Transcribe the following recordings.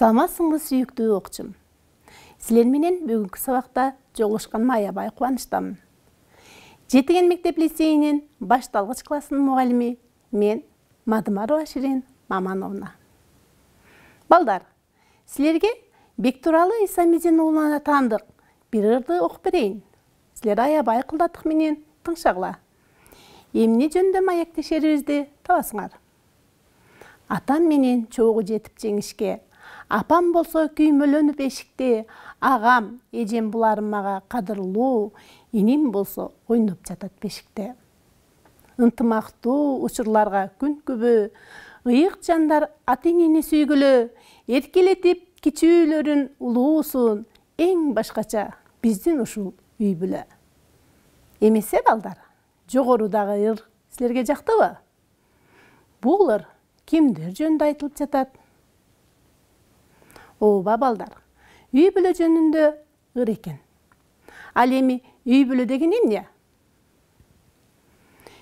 Саламатсыңбы сүйүктүү окуучум. Силер менен бүгүнкү сабакта жолугушканыма аябай кубанычтамын. Жетиген мектеп лицейинин башталгыч классынын мугалими мен Мадымарова Ширин Мамановна. Балдар, силерге Бектуралы Исамидин уулуна таандык бир ырды окуп берейин. Силер аябай кылдаттык менен тыңшагыла. Эмне жөнүндө маектешерибизди табасыңар. Атам менен чогуу жетип жеңишке, апам болсо күймөлөнүп эшикте, агам, эжем буларым мага кадырлуу, иним болсо ойноп жатат бешикте. Ынтымактуу учурларга күнкүбө, ыйык жандар ата-энени сүйгүлө, эркелетип кичүүлөрүн улуусун, эң башкача биздин ушул үй бүлө. Эмесе балдар, жогорудагы ыр силерге жактыбы? Бул ыр кимдер жөнүндө айтылып жатат? Ооба балдар, үй бүлө жөнүндө ыр экен. Ал эми үй бүлө деген эмне?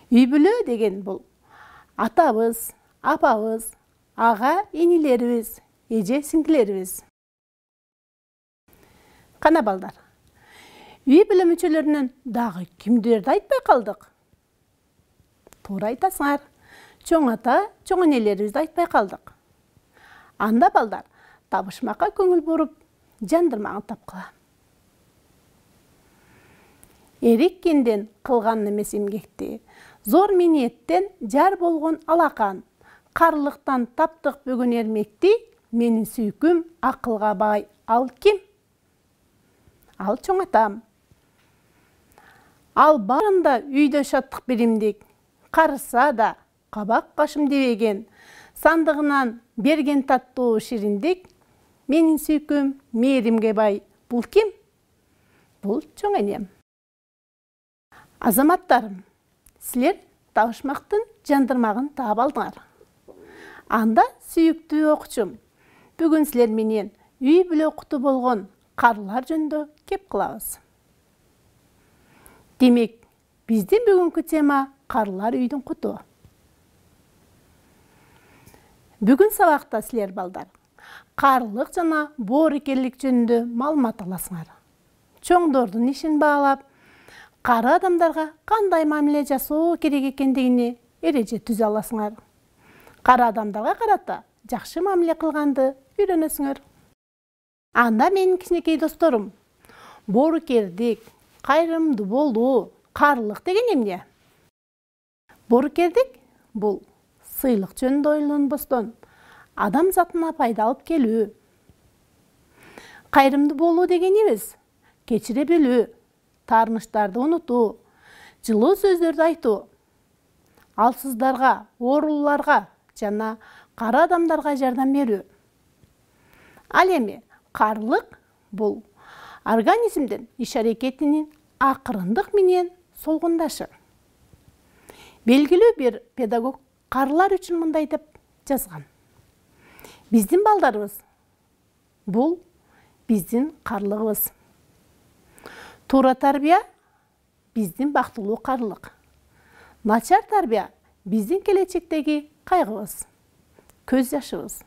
Үй бүлө деген бул атабыз, апабыз, ага инилерибиз, эже сиңдилерибиз. Кана балдар, үй бүлө мүчөлөрүнөн дагы кимдерди айтпай калдык? Туура айтасыңар, чоң ата, чоң энелерибизди айтпай калдык. Анда балдар, табышмакка көңүл буруп, жандырмагын тапкыла. Эриккенден кылган эмес эмгекти, зор миниеттен жар болгон алакан, карлыктан таптык бөгөн эрмекти, менин сүйкүм акылга бай ал ким? Ал чоң атам. Ал барында үйдө шаттык биримдик, карыса да кабак кашым дебеген, сандыгынан берген таттуу шириндик, менин сүйкүм мээримге бай бул ким? Бул чоң энем. Азаматтарым, силер табышмактын жандырмагын таап алдыңар. Анда сүйүктүү окуучум, бүгүн силер менен үй бүлө куту болгон карлар жөнүндө кеп кылабыз. Демек, биздин бүгүнкү тема карлар үйдүн куту. Бүгүн сабакта силер балдар карлык жана боорукерлик жөнүндө маалымат аласыңар. Чоңдордун ишин баалап, кары адамдарга кандай мамиле жасоо керек экендигини эреже түзө аласыңар. Кары адамдарга карата жакшы мамиле кылганды үйрөнөсүңөр. Анда менин кичинекей досторум, боорукердик, кайрымдуу болуу, карлык деген эмне? Боорукердик бул сыйлык жөнүндө ойлонбостон адам затына пайда алып келүү. Кайрымдуу болуу дегенибиз кечире билүү, таарынычтарды унутуу, жылуу сөздөрдү айтуу, алсыздарга, оорулууларга жана кары адамдарга жардам берүү. Ал эми карлык бул организмдин иш-аракетинин акырындык менен солгундашы. Белгилүү бир педагог карлар үчүн мындай деп жазган. Биздин балдарыбыз бул биздин карлыгыбыз. Туура тарбия биздин бактылуу карлык. Начар тарбия биздин келечектеги кайгыбыз, көз жашыбыз.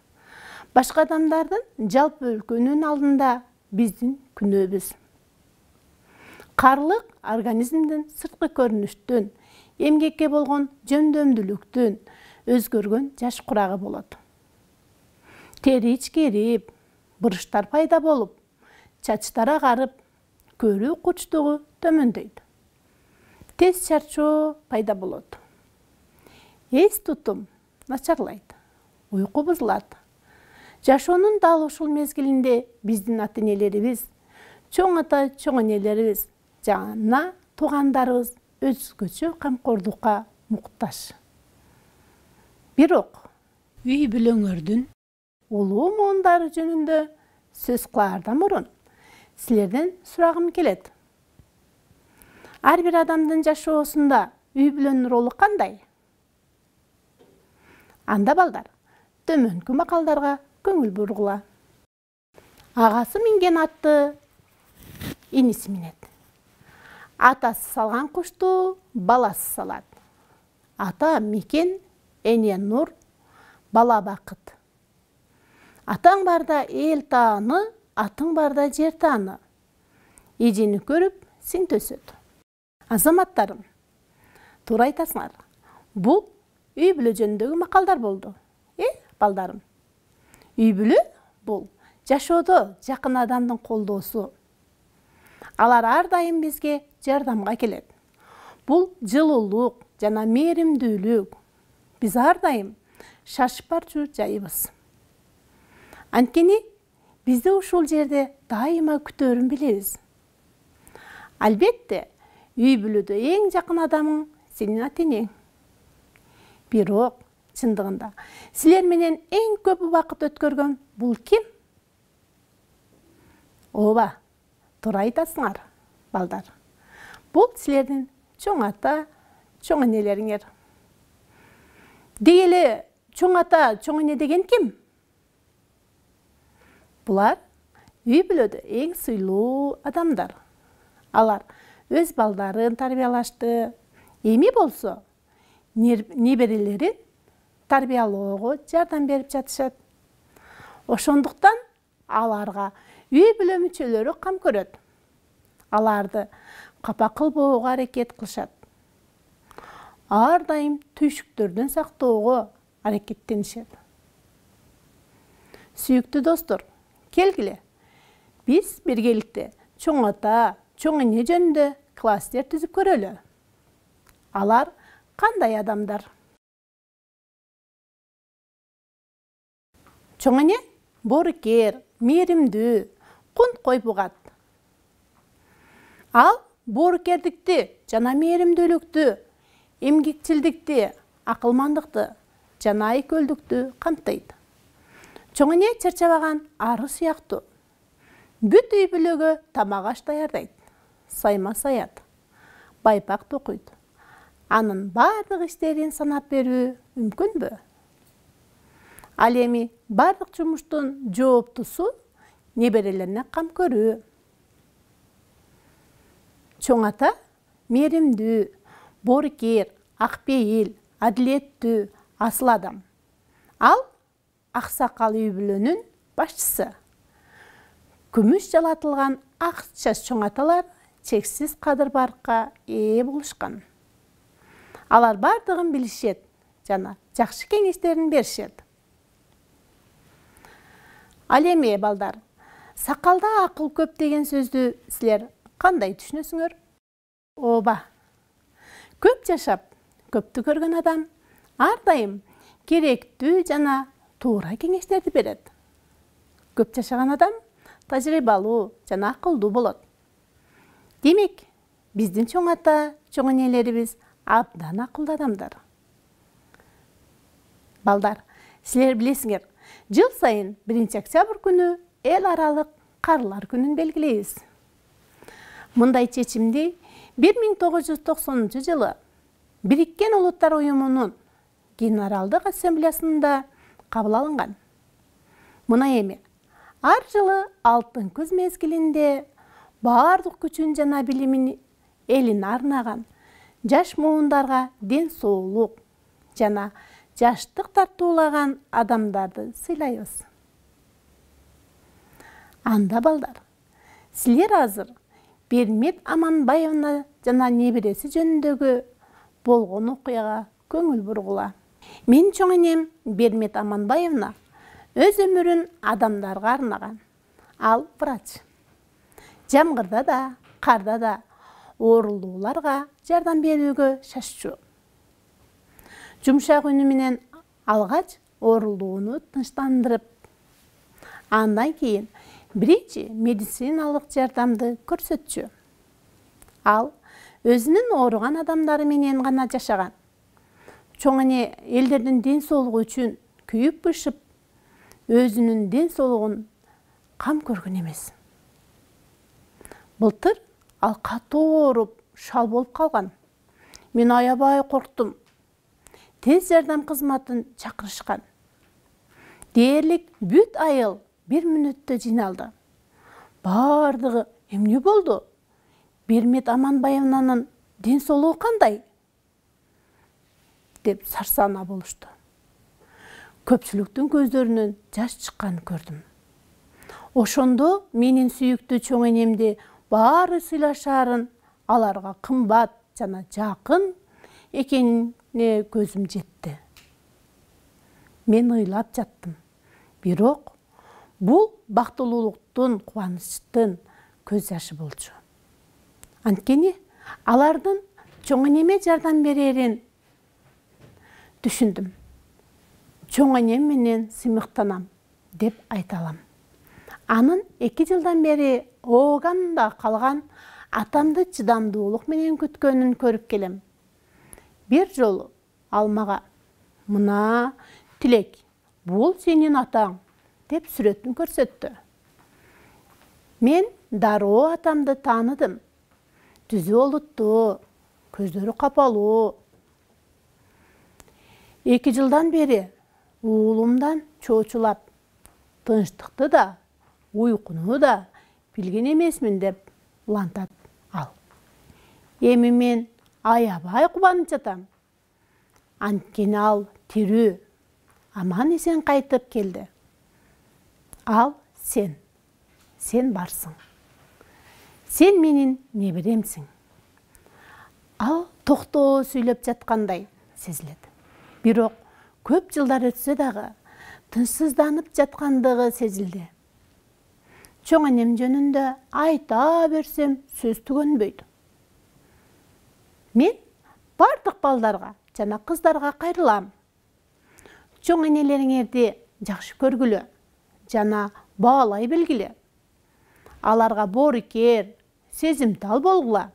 Башка адамдардын жалпы өлкөнүн алдында биздин күнөөбүз. Карлык организмдин сырткы көрүнүштүн, эмгекке болгон жөндөмдүүлүктүн өзгөргөн жаш курагы болот. Тери ичкерип, буруштар пайда болуп, чачтар агарып, көрүү кучтугу төмөндөйт. Тез чарчоо пайда болот. Эс тутум начарлайт, уйку бузулат. Жашоонун дал ушул мезгилинде биздин ата-энелерибиз, чоң ата, чоң энелерибиз жана туугандарыбыз өзгөчө камкордукка муктаж. Бирок үй бүлөңөрдүн улуу муундары жөнүндө сөз кылаардан мурун силерден сурагым келет. Ар бир адамдын жашоосунда үй бүлөнүн ролу кандай? Анда балдар, төмөнкү макалдарга көңүл бургула. Агасы минген атты иниси минет. Атасы салган кушту баласы салат. Ата мекен, эне нур, бала бакыт. Атаң барда эл тааны, атың барда жер тааны. Эжени көрүп, сиң төсөт. Азаматтарым, туура айтасыңар. Бул үй бүлө жөнүндөгү макалдар болду. Балдарым. Үй бүлө бул жашоодо жакын адамдын колдоосу. Алар ар дайым бизге жардамга келет. Бул жылуулук жана мээримдүүлүк. Биз ар дайым шашып барчу жайыбыз. Анткени бизди ушул жерде дайыма күтөөрүн билебиз. Албетте, үй бүлөдө эң жакын адамың сенин ата-энең. Бирок, чындыгында, силер менен эң көп убакыт өткөргөн бул ким? Ооба, туура айтасыңар, балдар. Бул силердин чоң ата, чоң энелериңер. Деги эле чоң ата, чоң эне деген ким? Булар үй бүлөдө эң сыйлуу адамдар. Алар өз балдарын тарбиялашты. Эми болсо, неберелерин тарбиялоого жардам берип жатышат. Ошондуктан аларга үй бүлө мүчөлөрү кам көрөт. Аларды капа кылбоого аракет кылышат. Ар дайым түйшүктөрдөн сактоого аракеттенишет. Сүйүктүү достор, келгиле. Биз биргеликте чоң ата, чоң эне жөнүндө класстер түзүп көрөлү. Алар кандай адамдар? Чоң эне боорукер, мээримдүү, кунт кой бугат. Ал боорукердикти жана мээримдүүлүктү, эмгекчилдикти, акылмандыкты жана айкөлдүктү камтыйт. Чоң эне чарчабаган ары сыяктуу. Бүт үй бүлөгө тамак аш даярдайт, сайма саят, байпак токуйт. Анын бардык иштерин санап берүү мүмкүнбү? Ал эми бардык жумуштун жооптусу неберелерине кам көрүү. Чоң ата мээримдүү, боорукер, акпейил, адилеттүү, асыл адам. Ал аксакал үй бүлөнүн башчысы. Күмүш жалатылган ак чач чоң аталар чексиз кадыр баркка ээ болушкан. Алар бардыгын билишет жана жакшы кеңештерин беришет. Ал эми, балдар, сакалда акыл көп деген сөздү силер кандай түшүнөсүңөр? Ооба. Көп жашап, көптү көргөн адам ар дайым керектүү жана туура кеңештерди берет. Көп жашаган адам тажрыйбалуу жана акылдуу болот. Демек, биздин чоң ата, чоң энелерибиз абдан акылдуу адамдар. Балдар, силер билесиңер, жыл сайын 1-октябрь күнү эл аралык карылар күнүн белгилейбиз. Мындай чечимди 1990 жылы Бириккен Улуттар Уюмунун Генералдык Ассамблеясында кабыл алынган. Мына эми, ар жылы алтын күз мезгилинде бардык күчүн жана билимин элине арнаган жаш муундарга ден соолук жана жаштык тартуулаган адамдарды сыйлайбыз. Анда, балдар, силер азыр Бермет Аманбаевна жана небереси жөнүндөгү болгон окуяга көңүл бургула. Мен чоң энем Бермет Аманбаевна өз өмүрүн адамдарга арнаган. Ал врач. Жамгырда да, карда да оорулууларга жардам берүүгө шашчу. Жумшак үнү менен алгач оорулууну тынчтандырып, андан кийин биринчи медициналык жардамды көрсөтчү. Ал өзүнүн ооруган адамдары менен гана жашаган. Чоң эне элдердин ден соолугу үчүн күйүп-бышып, өзүнүн ден соолугун кам көргөн эмес. Былтыр ал катуу ооруп, шал болуп калган. Мен аябай корктум. Тез жардам кызматын чакырышкан. Дээрлик бүт айыл 1 мүнөттө жыйналды. Бардыгы эмне болду? Бермет Аманбаевнанын ден соолугу кандай? Деп сарсана болушту. көпчүлүктүн көздөрүнөн жаш чыкканын көрдүм. Ошондо менин сүйүктүү чоң энемди баары сыйлашаарын, аларга кымбат жана жакын экенине көзүм жетти. Мен ыйлап жаттым. Бирок бул бактылуулуктун, кубанычтын көз жашы болчу. Анткени алардын чоң энеме жардам берерин түшүндүм. Чоң энем менен сыймыктанам деп айта алам. Анын 2 жылдан бери Ооганда калган атамды чыдамдуулук менен күткөнүн көрүп келем. Бир жолу ал мага «Мына, Тилек, бул сенин атаң» деп сүрөтүн көрсөттү. Мен дароо атамды тааныдым. Түзү олуттуу, көздөрү капалуу. 2 жылдан бери уулумдан чоочулап, тынчтыкты да, уйкуну да билген эмесмин деп улантат ал. Эми мен аябай кубанып жатам. Анткени ал тирүү, аман эсен кайтып келди. Ал сен барсың. Сен менин неберемсиң. Ал токтоо сүйлөп жаткандай сезилет. Бирок көп жылдар өтсө дагы тынчсызданып жаткандыгы сезилди. Чоң энем жөнүндө айта берсем сөз түгөнбөйт. Мен бардык балдарга жана кыздарга кайрылам. Чоң энелериңерди жакшы көргүлө жана баалай билгиле. Аларга боорукер, сезимтал болгула.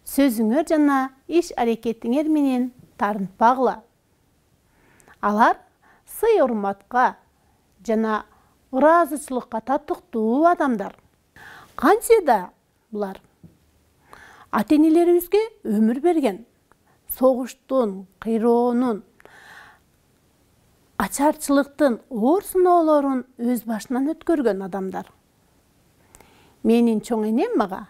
Сөзүңөр жана иш аракетиңер менен тарынтпагыла. Алар сый-урматка жана ыраазычылыкка татыктуу адамдар. Кантсе да булар ата-энелерибизге өмүр берген, согуштун, кыйроонун, ачарчылыктын оор сыноолорун өз башынан өткөргөн адамдар. Менин чоң энем мага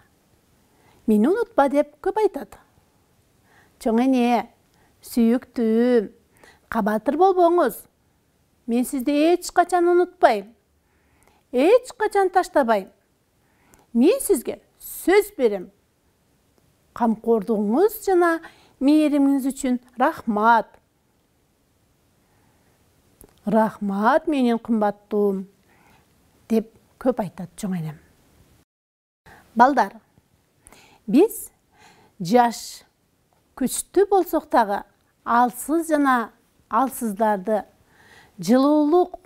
«Мени унутпа» деп көп айтат. Чоң эне, сүйүктүүм, кабатыр болбоңуз. Мен сизди эч качан унутпайм. Эч качан таштабайм. Мен сизге сөз берем. Камкордугуңуз жана мээримиңиз үчүн рахмат. Рахмат менин кымбаттуум деп көп айтат чоң энем. Балдар, биз жаш, күчтүү болсок дагы алсыз жана алсыздарды жылуулук,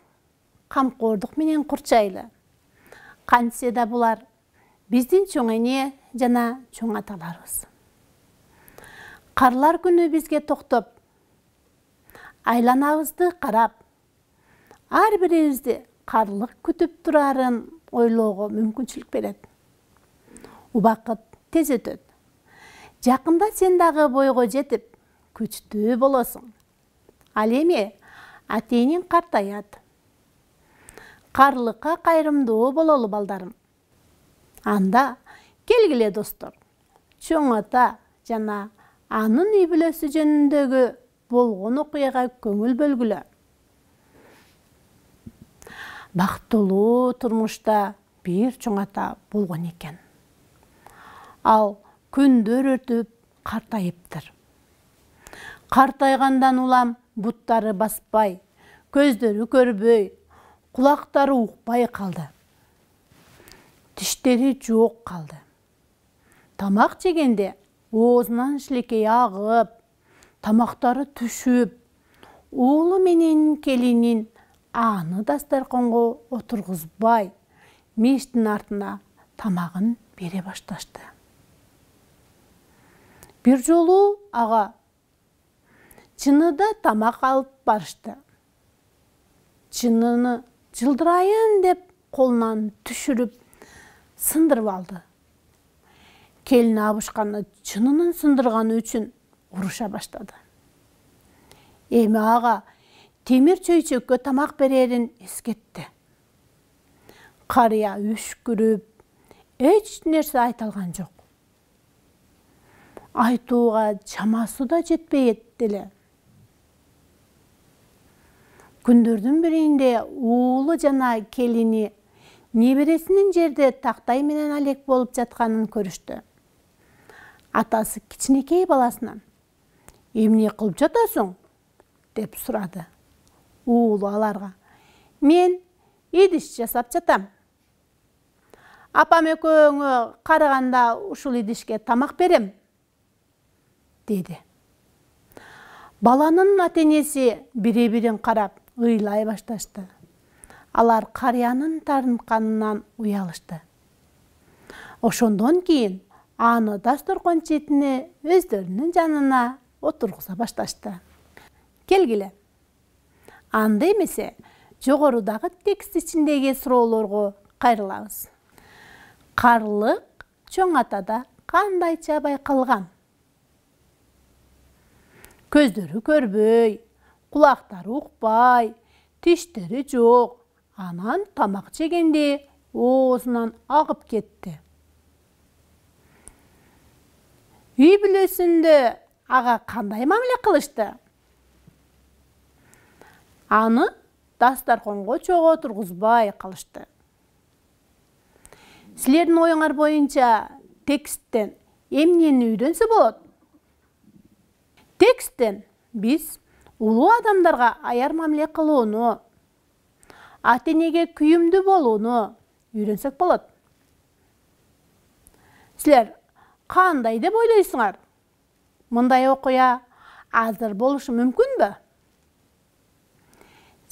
камкордук менен курчайлы. Кантсе да булар биздин чоң эне жана чоң аталарыбыз. Карлар күнү бизге токтоп, айланабызды карап, ар бирибизди карлык күтүп турарын ойлоого мүмкүнчүлүк берет. Убакыт тез өтөт. Жакында сен дагы бойго жетип, күчтүү болосуң. Ал эми ата-энең картаят. Карлыкка кайрымдуу бололу, балдарым. Анда келгиле достор, чоң ата жана анын үй бүлөсү жөнүндөгү болгон окуяга көңүл бөлгүлө. Бактылуу турмушта бир чоң ата болгон экен. Ал күндөр өтүп картайыптыр. Картайгандан улам буттары баспай, көздөрү көрбөй, кулактары укпай калды. Тиштери жок калды. Тамак жегенде оозунан шилекей агып, тамактары түшүп, уулу менен келинин аны дасторконго отургузбай, мештин артына тамагын бере башташты. Бир жолу ага чыныда тамак алып барышты. Чыныны жылдырайын деп колунан түшүрүп сындырып алды. Келини абышканы чынынын сындырганы үчүн уруша баштады. Эми ага темир чөйчөккө тамак берерин эскертти. Карыя үшкүрүп, эч нерсе айта алган жок. Айтууга чамасы да жетпейт деле. Күндөрдүн биринде уулу жана келини небересинин жерде тактай менен алек болуп жатканын көрүштү. Атасы кичинекей баласынан: «Эмне кылып жатасың?» деп сурады. Уулу аларга: «Мен идиш жасап жатам. Апам экөөңө карыганда ушул идишке тамак берем», деди. Баланын ата-энеси бири-бирин карап ыйлай башташты. Алар карыянын тартынканынан уялышты. Ошондон кийин аны дасторкон четине өздөрүнүн жанына отургуза башташты. Келгиле. Анда эмесе жогорудагы текст ичиндеги суроолорго кайрылабыз. Карлык чоң атада кандайча байкалган? Көздөрү көрбөй, кулактары укпай, тиштери жок. Анан тамак жегенде оозунан агып кетти. Үй бүлөсүндө ага кандай мамиле кылышты? Аны дасторконго чогуу отургузбай калышты. Силердин оюңар боюнча тексттен эмнени үйрөнсө болот? Тексттен биз улуу адамдарга аяр мамиле кылууну, ата-энеге күйүмдүү болууну үйрөнсөк болот. Силер кандай деп ойлойсуңар? Мындай окуя азыр болушу мүмкүнбү?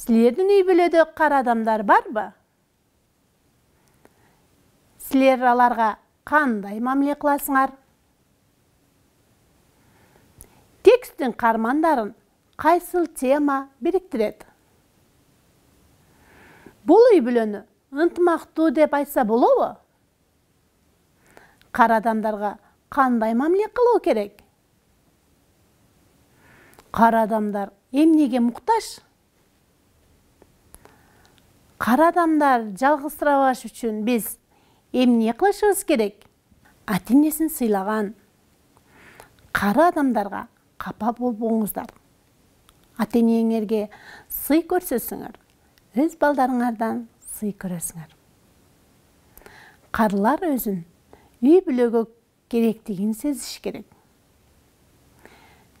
Силердин үй бүлөдө кара адамдар барбы? Силер аларга кандай мамиле кыласыңар? Тексттин кармандарын кайсыл тема бириктирет? Бул үй бүлөнү ынтымактуу деп айтса болобу? Кара адамдарга кандай мамиле кылуу керек? Кара адамдар эмнеге муктаж? Кара адамдар жалгызсырабаш үчүн биз эмне кылышыбыз керек? Ата-энесин сыйлаган кара адамдарга капа болбоңуздар. Ата-энеңерге сый көрсөтсөңөр, өз балдарыңардан сый көрөсүңөр. Карылар өзүн үй бүлөгө керектигин сезиш керек.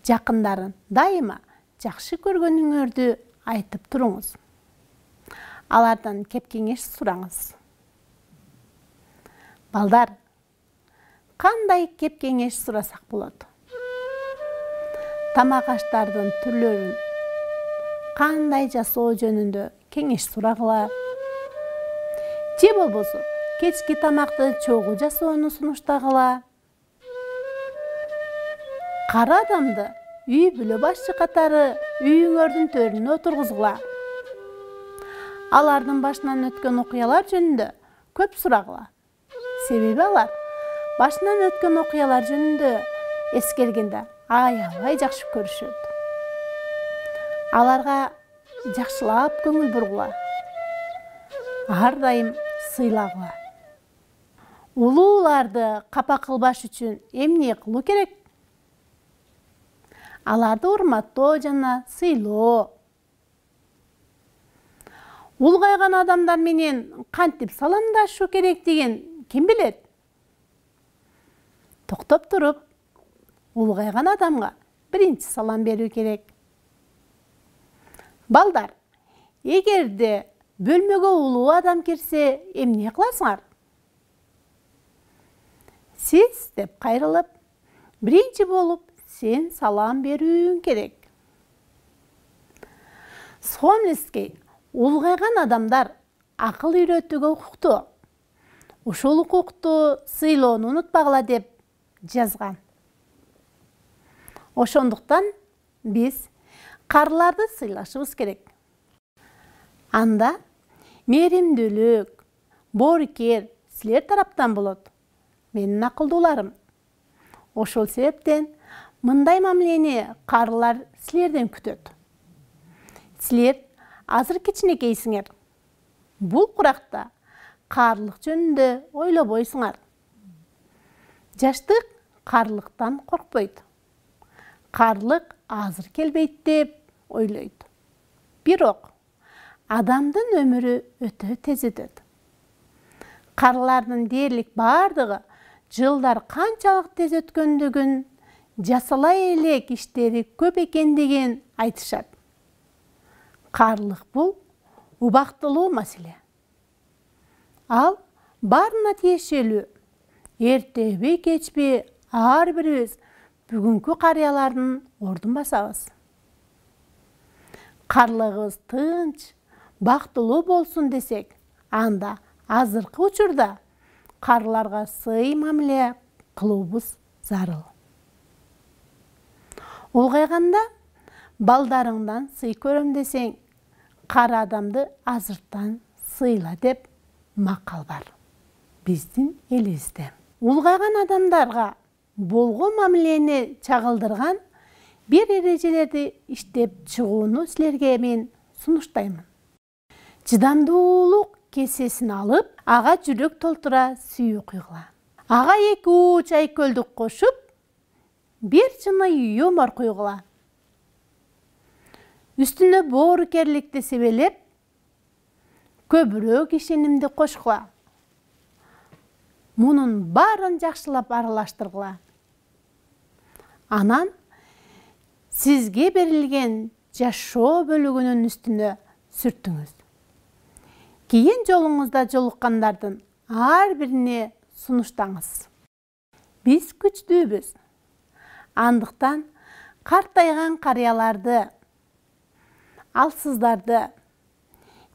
Жакындарын дайыма жакшы көргөнүңөрдү айтып туруңуз. Алардан кеп кеңеш сураңыз. Балдар, кандай кеп кеңеш сурасак болот? Тамак аштардын түрлөрүн кандай жасоо жөнүндө кеңеш сурагыла. Же болбосо кечки тамакты чогуу жасоону сунуштагыла. Кара адамды үй бүлө башчы катары үйүңөрдүн төрүнө отургузгула. Алардын башынан өткөн окуялар жөнүндө көп сурагыла. Себеби алар башынан өткөн окуялар жөнүндө эскергенде аябай жакшы көрүшөт. Аларга жакшылап көңүл бургула. Ар дайым сыйлагыла. Улууларды капа кылбаш үчүн эмне кылуу керек? Аларды урматтоо жана сыйлоо. Улгайган адамдар менен кантип саламдашуу керектигин ким билет? Токтоп туруп, улгайган адамга биринчи салам берүү керек. Балдар, эгерде бөлмөгө улуу адам кирсе, эмне кыласыңар? Сиз деп кайрылып, биринчи болуп сен салам берүүң керек. Сомлевский улгайган адамдар акыл үйрөтүүгө укуктуу. Ушул укукту сыйлоону унутпагыла деп жазган. Ошондуктан биз карыларды сыйлашыбыз керек. Анда мээримдүүлүк, боорукер силер тараптан болот. Менин акылдууларым. Ошол себептен мындай мамилени карылар силерден күтөт. Силер азыр кичинекейсиңер. Бул куракта карлык жөнүндө ойлобойсуңар. Жаштык карлыктан коркпойт. Карлык азыр келбейт деп ойлойт. Бирок адамдын өмүрү өтө тез өтөт. Карылардын дээрлик бардыгы жылдар канчалык тез өткөндүгүн, жасалай элек иштери көп экендигин айтышат. Карлык бул убактылуу маселе. Ал баарына тиешелүү. Эртеби, кечпи ар бирибиз бүгүнкү карыялардын ордун басабыз. Карлыгыбыз тынч, бактылуу болсун десек, анда азыркы учурда карыларга сый мамиле кылуубуз зарыл. Улгайганда балдарыңдан сый көрөм десең, кары адамды азырттан сыйла деп макал бар биздин элибизде. Улгайган адамдарга болгон мамилени чагылдырган бир эрежелерди иштеп чыгууну силерге мен сунуштаймын. Чыдамдуулук кесесин алып, ага жүрөк толтура сүйүү куйгула. Ага 2 чай көлдүк кошуп, бир чыны юмор куйгула. Үстүнө боорукерликти себелеп, көбүрөөк ишенимди кошкула. Мунун баарын жакшылап аралаштыргыла. Анан сизге берилген жашоо бөлүгүнүн үстүнө сүртүңүз. Кийин жолуңузда жолуккандардын ар бирине сунуштаңыз. Биз күчтүүбүз. Андыктан картайган карыяларды, алсыздарды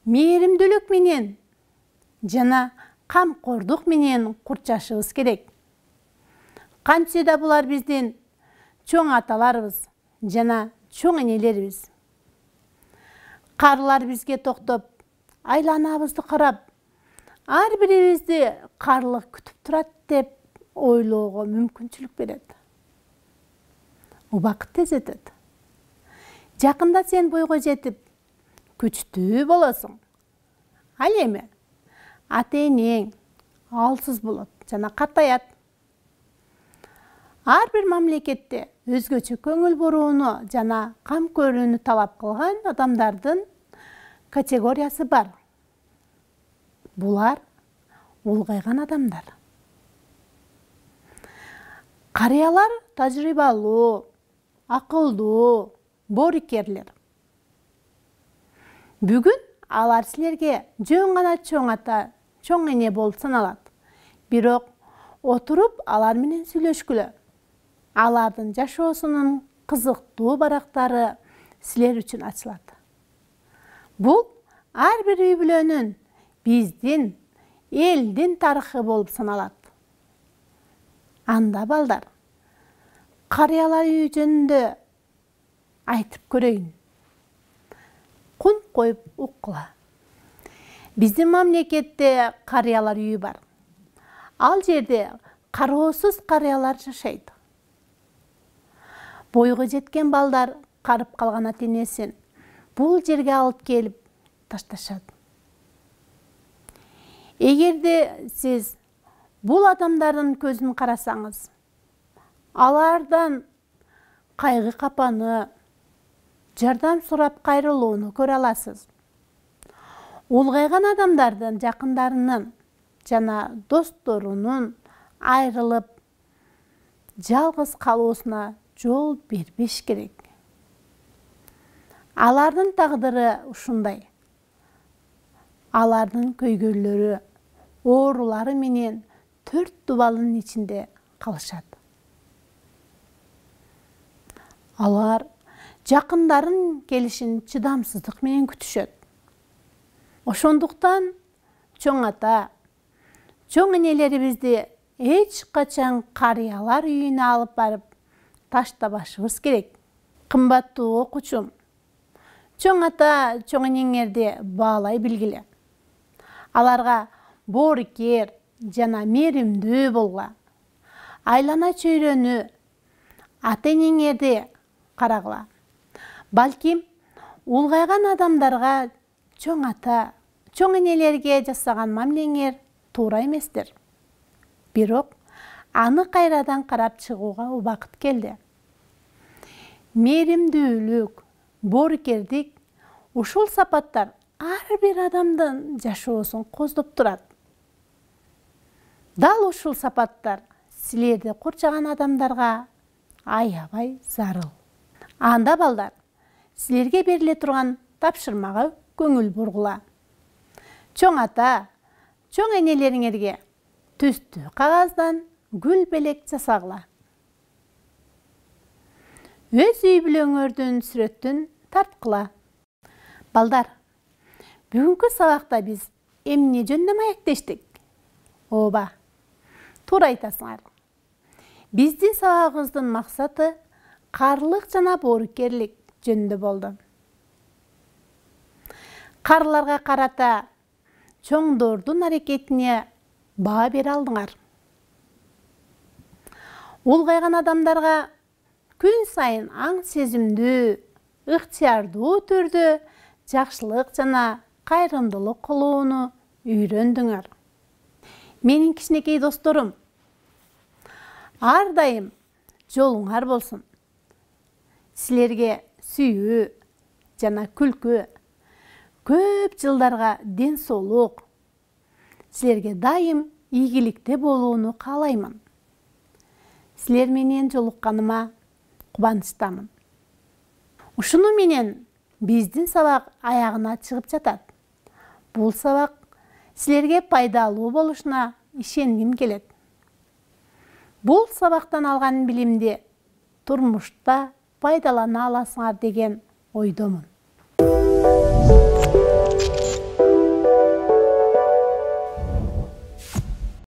мээримдүүлүк менен жана камкордук менен курчашыбыз керек. Кантсе да булар биздин чоң аталарыбыз жана чоң энелерибиз. Карылар бизге токтоп, айланабызды карап, ар бирибизди карлык күтүп турат деп ойлоого мүмкүнчүлүк берет. Убакыт тез өтөт. Жакында сен бойго жетип, күчтүү болосуң. Ал эми ата-энең алсыз болот жана картаят. Ар бир мамлекетте өзгөчө көңүл бурууну жана кам көрүүнү талап кылган адамдардын категориясы бар. Булар улгайган адамдар. Карыялар тажрыйбалуу, акылдуу, боорукерлер. Бүгүн алар силерге жөн гана чоң ата, чоң эне болуп саналат. Бирок отуруп алар менен сүйлөшкүлө. Алардын жашоосунун кызыктуу барактары силер үчүн ачылат. Бул ар бир үй бүлөнүн, биздин, элдин тарыхы болуп саналат. Анда балдар, карыялар үйү жөнүндө айтып көрөйүн. Кун коюп уккула. Биздин мамлекетте карыялар үйү бар. Ал жерде кароосуз карыялар жашайт. Бойго жеткен балдар карып калган ата-энесин бул жерге алып келип ташташат. Эгерде сиз бул адамдардын көзүн карасаңыз, алардан кайгы капаны, жардам сурап кайрылууну көрө аласыз. Улгайган адамдардын жакындарынын жана досторунун айрылып, жалгыз калуусуна жол бербеш керек. Алардын тагдыры ушундай. Алардын көйгөйлөрү, оорулары менен 4 дубалдын ичинде калышат. Алар жакындарын келишин чыдамсыздык менен күтүшөт. Ошондуктан чоң ата, чоң энелерибизди эч качан карыялар үйүнө алып барып таштабашыбыз керек. Кымбаттуу окуучум, чоң ата, чоң энеңерди баалай билгиле. Аларга боорукер жана мээримдүү болгула. Айлана чөйрөнү, ата-энеңерди карагыла. Балким улгайган адамдарга чоң ата, чоң энелерге жасаган мамилеңер туура эместир. Бирок аны кайрадан карап чыгууга убакыт келди. Мээримдүүлүк, боорукердик ушул сапаттар ар бир адамдын жашоосун коздоп турат. Дал ушул сапаттар силерди курчаган адамдарга аябай зарыл. Анда балдар, силерге бериле турган тапшырмага көңүл бургула. Чоң ата, чоң энелериңерге түстүү кагаздан гүл белек жасагыла. Өз үй бүлөңөрдүн сүрөтүн тарткыла. Балдар, бүгүнкү сабакта биз эмне жөнүндө маектештик? Ооба, туура айтасыңар. Биздин сабагыбыздын максаты карлык жана боорукерлик жөнүндө болду. Карларга карата чоңдордун аракетине баа бере алдыңар. Улгайган адамдарга күн сайын аң сезимдүү, ыктыярдуу түрдө жакшылык жана кайрымдуулук кылууну үйрөндүңөр. Менин кичинекей досторум, ар дайым жолуңар болсун. Силерге сүйүү жана күлкү, көп жылдарга ден соолук, силерге дайым ийгиликте болууну каалаймын. Силер менен жолукканыма кубанычтамын. Ушуну менен биздин сабак аягына чыгып жатат. Бул сабак силерге пайдалуу болушуна ишенгим келет. Бул сабактан алган билимди турмушта пайдалана аласыңар деген ойдомун.